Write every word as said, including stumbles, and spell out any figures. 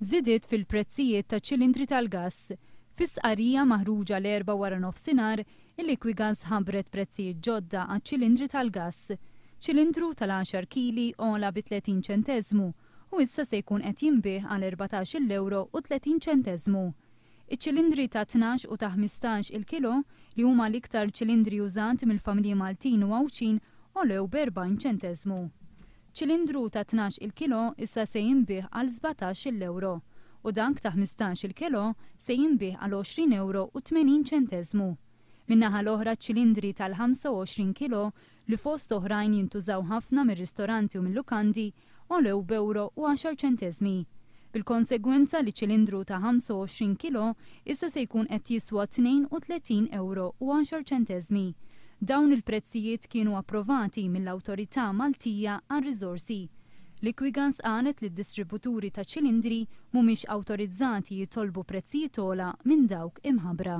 Żidiet fil-prezzijiet ta' ċilindri tal-gass. Fi stqarrija maħruġa l-Erbgħa wara nofsinhar, il-Liquigas ħabbret prezzijiet ġodda għaċ-ċilindri tal-gass. Ċilindru tal-għaxar kili ogħla bi tletin ċenteżmu u issa se jkun qed jinbiegħ għal erbatax-il ewro u tletin ċenteżmu. Iċ-ċilindri ta' tnax u ta' ħmistax il-kilo, li huma l-iktar ċilindri użati mill-familji Maltin u Għawdxin, għolew b'erbgħin ċenteżmu. Ċilindru ta' tnax il kilo issa se jinbiegħ għal sbatax il ewro u dak ta' ħmistax il kilo se jinbiegħ għal għoxrin ewro u tmenin ċenteżmu. Min-naħa l-oħra ċ-ċilindri tal-ħamsa u għoxrin kilo li fost oħrajn jintużaw ħafna mir-ristoranti u mil-lukandi għolew b'ewro u għaxar ċenteżmi. Bil-konsegwenza li ċilindru ta' ħamsa u għoxrin kilo issa se jkun qed jiswa tnejn u tletin ewro u għaxar ċenteżmi. Dawn il-prezzijiet kienu approvati mill-Awtorità Maltija għar-Riżorsi. Liquigas qalet li d-distributuri ta' ċilindri mhumiex awtorizzati jitolbu prezzijiet ogħla minn dawk imħabbra.